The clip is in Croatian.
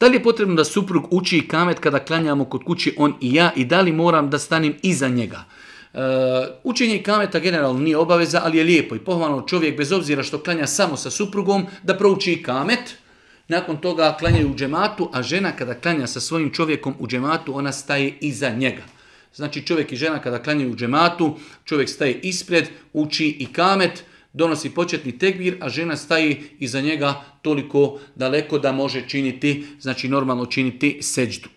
Da li je potrebno da suprug uči ikamet kada klanjamo kod kući on i ja i da li moram da stanim iza njega? Učenje ikameta generalno nije obaveza, ali je lijepo i pohvalno čovjek bez obzira što klanja samo sa suprugom da prouči ikamet. Nakon toga klanjaju u džematu, a žena kada klanja sa svojim čovjekom u džematu, ona staje iza njega. Znači čovjek i žena kada klanjaju u džematu, čovjek staje ispred, uči ikamet, donosi početni tekbir, a žena staje iza njega toliko daleko da može činiti, znači normalno činiti seđdu.